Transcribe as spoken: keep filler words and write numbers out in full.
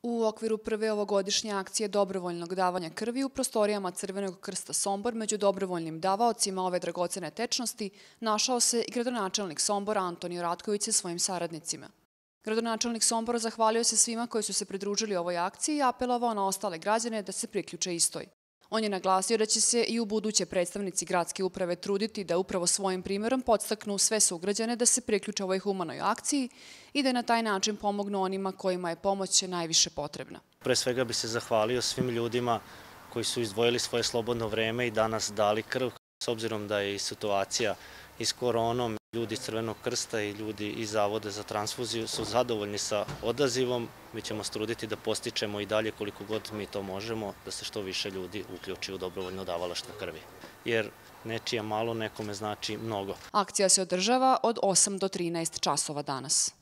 U okviru prve ovogodišnje akcije dobrovoljnog davanja krvi u prostorijama Crvenog krsta Sombor među dobrovoljnim davaocima ove dragocene tečnosti našao se i gradonačelnik Sombora Antonio Ratković sa svojim saradnicima. Gradonačelnik Sombora zahvalio se svima koji su se pridružili ovoj akciji i apelovao na ostale građane da se priključe istoj. On je naglasio da će se i u buduće predstavnici gradske uprave truditi da upravo svojim primjerom podstaknu sve sugrađane da se priključe ovoj humanoj akciji i da na taj način pomognu onima kojima je pomoć najviše potrebna. Pre svega bi se zahvalio svim ljudima koji su izdvojili svoje slobodno vreme i danas dali krv. S obzirom da je i situacija i s koronom, ljudi iz Crvenog krsta i ljudi iz Zavoda za transfuziju su zadovoljni sa odazivom. Mi ćemo struditi da postičemo i dalje koliko god mi to možemo, da se što više ljudi uključi u dobrovoljno davalaštvo krvi. Jer nečije malo nekome znači mnogo. Akcija se održava od osam do trinaest časova danas.